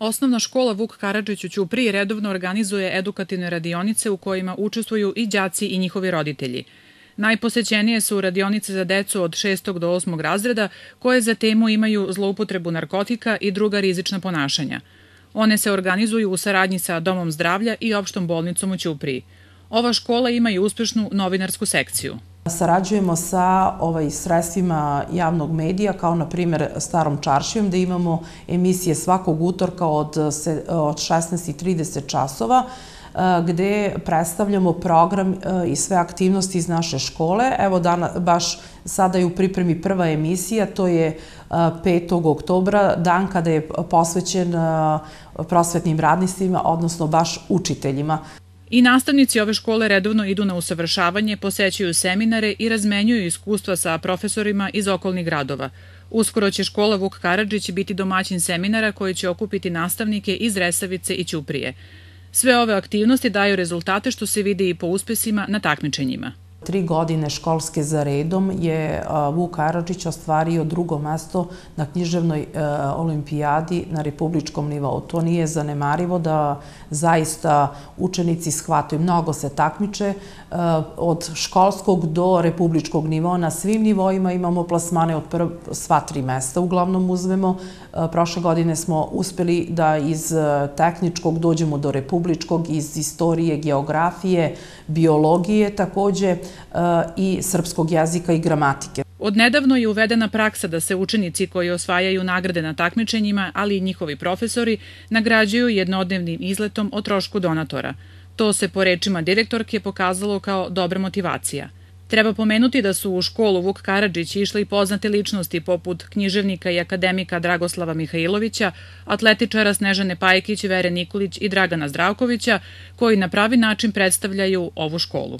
Osnovna škola Vuk Karadžić u Ćupriji redovno organizuje edukativne radionice u kojima učestvuju i đaci i njihovi roditelji. Najposećenije su radionice za decu od 6. do 8. razreda koje za temu imaju zloupotrebu narkotika i druga rizična ponašanja. One se organizuju u saradnji sa Domom zdravlja i opštom bolnicom u Ćupriji. Ova škola ima i uspešnu novinarsku sekciju. Sarađujemo sa sredstvima javnog medija, kao na primjer Starom čaršijom, gde imamo emisije svakog utorka od 16:30 časova, gde predstavljamo program i sve aktivnosti iz naše škole. Evo, baš sada je u pripremi prva emisija, to je 5. oktobra, dan kada je posvećen prosvetnim radnicima, odnosno baš učiteljima. I nastavnici ove škole redovno idu na usavršavanje, posećuju seminare i razmenjuju iskustva sa profesorima iz okolnih gradova. Uskoro će škola Vuk Karadžić biti domaćin seminara koji će okupiti nastavnike iz Resavice i Ćuprije. Sve ove aktivnosti daju rezultate što se vidi i po uspesima na takmičenjima. 3 godine školske za redom je Vuk Karadžić ostvario 2. mesto na književnoj olimpijadi na republičkom nivou. To nije zanemarivo da zaista učenici shvataju. Mnogo se takmiče od školskog do republičkog nivoa. Na svim nivoima imamo plasmane od sva 3 mesta. Uglavnom uzmemo. Prošle godine smo uspeli da iz tehničkog dođemo do republičkog, iz istorije, geografije, biologije takođe i srpskog jezika i gramatike. Odnedavno je uvedena praksa da se učenici koji osvajaju nagrade na takmičenjima, ali i njihovi profesori, nagrađuju jednodnevnim izletom o trošku donatora. To se, po rečima direktorke, pokazalo kao dobra motivacija. Treba pomenuti da su u školu Vuk Karadžić išle i poznate ličnosti poput književnika i akademika Dragoslava Mihajlovića, atletičara Snežane Pajkić, Vere Nikolić i Dragana Zdravkovića, koji na pravi način predstavljaju ovu školu.